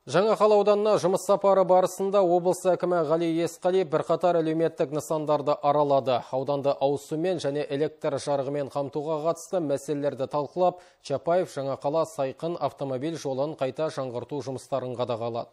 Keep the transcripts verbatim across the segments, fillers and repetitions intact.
Жаңақала ауданына жұмыс сапары барысында облыс әкімі Ғали Есқали бірқатар әлеуметтік нысандарды аралады. Ауданды ауыз сумен және электр жарығымен қамтуға қатысты мәселелерді талқылап, Чапаев Жаңақала Сайқын автомобиль жолын қайта жаңғырту жұмыстарын қадағалады.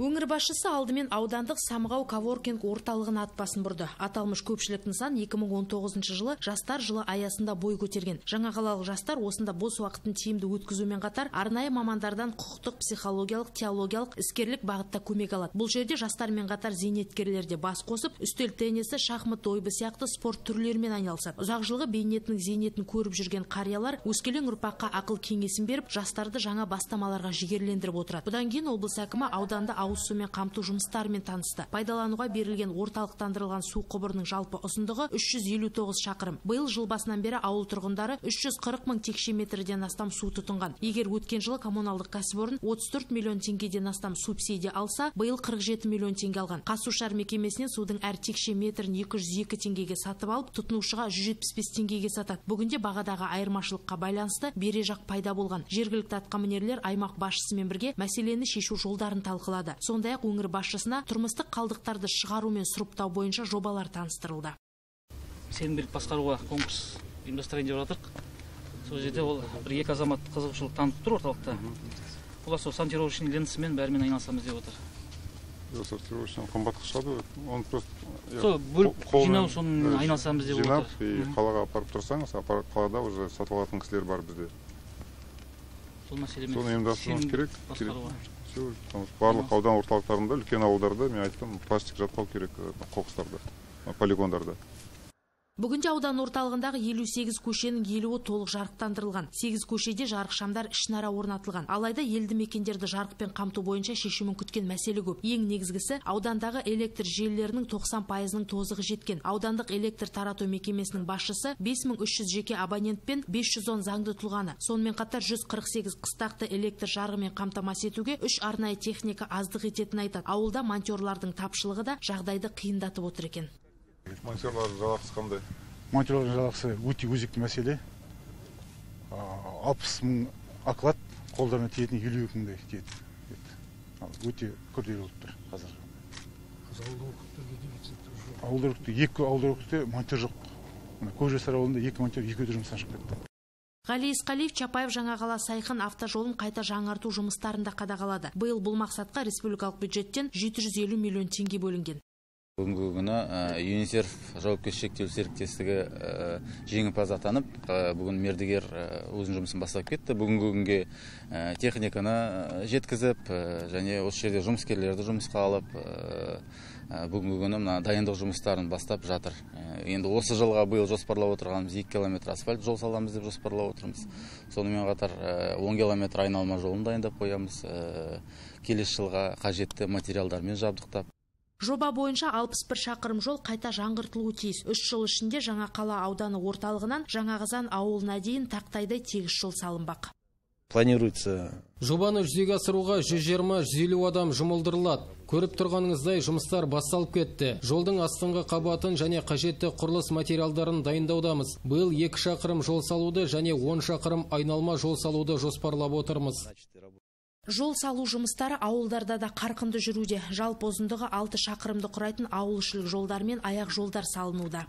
Өңір басшысы алдымен аудандық Самғау коворкинг орталығын ат басын бұрды. Аталмыш көпшілік нысан екі мың он тоғызыншы жылы жастар жылы аясында бой көтерген. Жаңақалалық жастар осында бос уақытын тиімді өткізумен қатар арнайы мамандардан құқықтық, психологиялық, теологиялық, іскерлік бағытта көмек алады. Бұл жерде жастармен қатар зейнеткерлер де бас қосып, үстел теннисі, шахмат, дойбы сияқты спорт түрлерімен айналысады. Ұзақ жылғы бейнетінің зейнетін көріп жүрген қариялар өскелең ұрпаққа ақыл кеңесін беріп, жастарды жаңа бастамаларға жігерлендіріп отырады. Бұдан кейін облыс әкімі ауданда ауыз сумен қамту жұмыстарымен танысты. Пайдалануға берілген орталықтандырылған су құбырының жалпы ұзындығы үш жүз елу тоғыз шақырым. Биыл жыл басынан бері ауыл тұрғындары үш жүз қырық мың текше метрден астам су тұтынған. Егер өткен жылы коммуналдық кәсіпорын отыз төрт миллион теңгеден астам субсидия алса, биыл қырық жеті миллион теңге алған. Қазсушар мекемесінен судың әр текше метрін екі жүз екі теңгеге сатып алып, тұтынушыға жүз жетпіс бес теңгеге сатады. Бүгінде бағадағы айырмашылыққа байланысты бережақ пайда болған. Жергілікті атқамінерлер аймақ басшысымен бірге мәселені шешу жолдарын талқылады. Сондай-ақ өңір басшысына тұрмыстық қалдықтарды шығару мен сұрыптау бойынша жобалар таныстырылды. Сенімгерлік басқаруға конкурс ұйымдастырайын деп жатырмық. Сол жерде ол бір екі азамат қызығушылық танытып тұр орталықта. Олар сол сортировочный лентасымен бәрімен айналысамыз деп отыр. Сортировочный қымбатқа шығады, оны просто сол бөліп жинау, соны айналысамыз деп отыр. Жинап и қалаға апарып тұрсаңыз, қалада уже сатып алатын кісілер бар бізде. Сол мәселемен соны ұйымдастыруымыз керек. Басқаруға. Барлық аудан орталықтарында, үлкен ауылдарда, мен айттым, пластик жатпау керек қоқыстарда, полигондарда. Бүгінде аудан орталығындағы елу сегіз көшенің елуі толық жарықтандырылған. сегіз көшеде жарық шамдар ішінара орнатылған. Алайда елді мекендерді жарықпен қамту бойынша шешімін күткен мәселе көп. Ең негізгісі аудандағы электр желілерінің тоқсан пайызының тозығы жеткен. Аудандық электр тарату мекемесінің басшысы бес мың үш жүз жеке абонентпен бес жүз он заңды тұлғаны. Сонымен қатар жүз қырық сегіз қыстақты электр жарығымен қамтамасыз етуге үш арнайы техника аздық ететінін айтады. Ауылда монтерлардың тапшылығы да жағдайды қиындатып отыр екен. Монтерлардың жалақысы қандай? Монтерлардың жалақысы өте өзекті мәселе. алпыс мың оклад, қолдарына тиетін елу екі мыңдай тиеді. Өте күрделі болып тұр қазір. Ауылдар округте екі ауылдар округте монтер жоқ. Көкжасар ауылында екі монтер екі жұмыстан шығып кетті. Ғали Есқалиев Чапаев Жаңақала Сайқын автожолын қайта жаңарту жұмыстарында қадағалады. Биыл бұл мақсатқа республикалық бюджеттен жеті жүз елу миллион теңге бөлінген. Бүгінгі күні ЮНИСЕФ жауапкершілігі шектеулі серіктестігі жеңімпаз атанып, бүгін мердігер өзінің жұмысын бастап кетті. Бүгінгі күнге техниканы жеткізіп, және осы жерде жұмыскерлерді жұмысқа алып, бүгінгі күні дайындық жұмыстарын бастап жатыр. Енді осы жылға биыл жоспарлап отырғанымыз екі километр асфальт жол саламыз деп жоспарлап отырмыз. Сонымен қатар он километр айналма жолын дайындап қоямыз. Келесі жылға қажетті материалдармен жабдықтап. Жоба бойынша алпыс бір шақырым жол қайта жаңғыртылуы тиіс. үш жыл ішінде Жаңақала ауданы орталығынан Жаңақазан ауылына дейін тақтайдай тегіс жол салынбақ. Планируется. Жобаны жүзеге асыруға жүз жиырма жүз елу адам жұмылдырылады. Көріп тұрғаныңыздай жұмыстар басталып кетті. Жолдың астыңғы қабатын және қажетті құрылыс материалдарын дайындаудамыз. Биыл екі шақырым жол салуды және он шақырым айналма жол салуды жоспарлап отырмыз. Жол салу жұмыстары ауылдарда да қарқынды жүруде. Жалпы ұзындығы алты шақырымды құрайтын ауылшылық жолдар мен аяқ жолдар салынуда.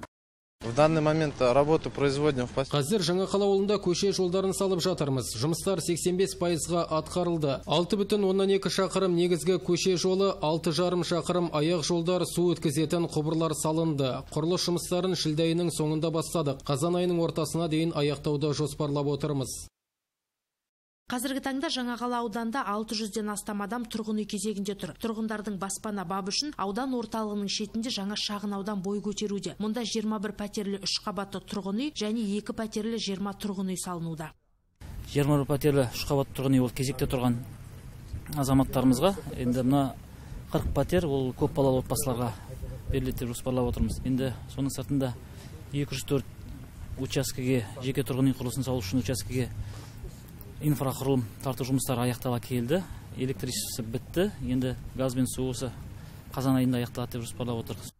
В данный момент работу производим в Қазір Жаңақала ауылында көше жолдарын салып жатырмыз. Жұмыстар сексен бес пайызға атқарылды. алты бүтін оннан екі шақырым негізгі көше жолы, алты жарым шақырым аяқ жолдар, су өткізетін құбырлар салынды. Құрылыс жұмыстарын шілде айының соңында бастадық. Қазан айының ортасына дейін аяқтауды жоспарлап отырмыз. Қазіргі таңда Жаңақала ауданда алты жүзден астам адам тұрғын үй кезегінде тұр. Тұрғындардың баспана бабы үшін аудан орталығының шетінде жаңа шағын аудан бой көтеруде. Мұнда жиырма бір пәтерлі үш қабатты тұрғын үй және екі пәтерлі жиырма тұрғын үй салынуда. жиырма бір пәтерлі үш қабатты тұрғын үй ол кезекте тұрған азаматтарымызға. Енді мына қырық пәтер ол көп балалы отбасыларға беріледі деп жоспарлап отырмыз. Енді соның сыртында екі жүз төрт учаскеге, жеке тұрғын үй құрылысын салу үшін учаскеге инфрақұрылым тарту жұмыстары аяқтала келді. Электричествосы бітті. Енді газ бен су осы қазан айында аяқталады деп жоспарлап отырмыз.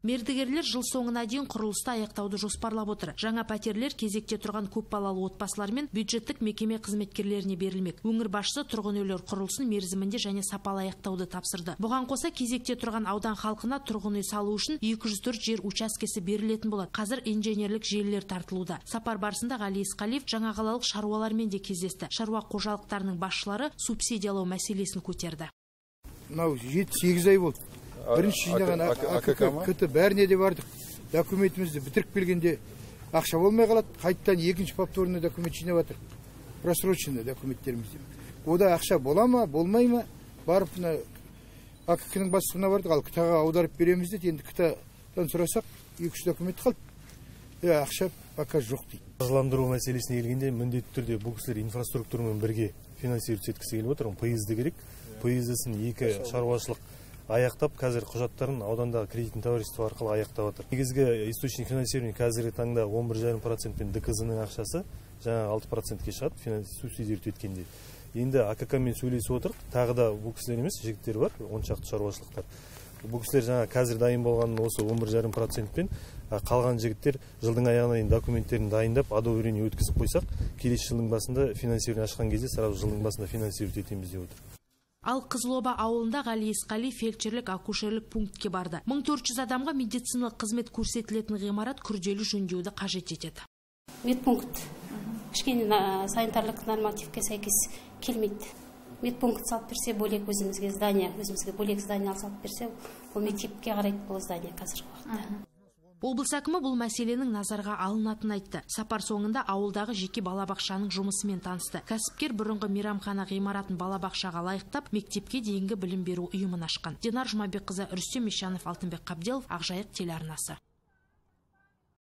Мердігерлер жыл соңына дейін құрылысты аяқтауды жоспарлап отыр. Жаңа пәтерлер кезекте тұрған көпбалалы отбасылар мен бюджеттік мекеме қызметкерлеріне берілмек. Өңір басшысы тұрғын үйлер құрылысын мерзімінде және сапалы аяқтауды тапсырды. Бұған қоса кезекте тұрған аудан халқына тұрғын үй салу үшін екі жүз төрт жер учаскесі берілетін болады. Қазір инженерлік желілер тартылуда. Сапар барысында Ғали Исқалиев жаңағалалық шаруалармен де кездесті. Шаруа қожалықтарының басшылары субсидиялау мәселесін көтерді. Мынау жеті сегіз ай болды. Бірінші жинаған АКК бәріне де бардық. Документімізді бітіріп келгенде ақша болмай қалады. Қайттан екінші повторный документ жинап жатыр. Просроченный документтерімізде. Ода ақша бола ма, болмай ма? Барып АКК-ның басшысына бардық. Ал КТА-ға аударып береміз дейді. Енді КТА-дан сұрасақ, екі үш документ қалды. Ақша пока жоқ дейді. Қаржыландыру мәселесіне келгенде міндетті түрде бұл кісілер инфраструктурамен бірге финансировать еткісі келіп отыр. Пойызды керек. Пойыздысын екі шаруашылық аяқтап, қазір құжаттарын аудандағы кредитный товарищество арқылы аяқтап отыр. Негізгі источник финансирования қазіргі таңда он бір жарым процент пен ДКЗ-ның ақшасы жаңа алты процентке шығады, субсидировать еткенде. Енді АКК-мен сөйлесіп отырық, тағы да бұл кісілер емес, жігіттер бар, он шақты шаруашылықтар. Бұл кісілер жаңа қазір дайын болғанын осы он бір жарым процент пен қалған жігіттер жылдың аяғына дейін документтерін дайындап, одобрение өткізіп қойсақ, келесі жылдың басында финансирование ашқан кезде сразу жылдың басында финансировать етеміз деп отыр. Ал Қызылоба ауылында Ғали Исқалиев фельдшерлік акушерлік пунктке барды. мың төрт жүз адамға медициналық қызмет көрсетілетін ғимарат күрделі жөндеуді қажет етеді. Медпункт кішкене санитарлық нормативке сәйкес келмейді. Медпункт салып берсе, бөлек өзімізге здание, өзімізге бөлек здание салып берсе, ол мектепке қарайды бұл здание қазіргі уақытта. Облыс әкімі бұл мәселенің назарға алынатын айтты. Сапар соңында ауылдағы жеке балабақшаның жұмысымен танысты. Кәсіпкер бұрынғы мейрамхана ғимаратын балабақшаға лайықтап, мектепке дейінгі білім беру ұйымын ашқан. Динар Жұмабекқызы, Рүстем Ишанов, Алтынбек Қабделов, Ақжайық телеарнасы.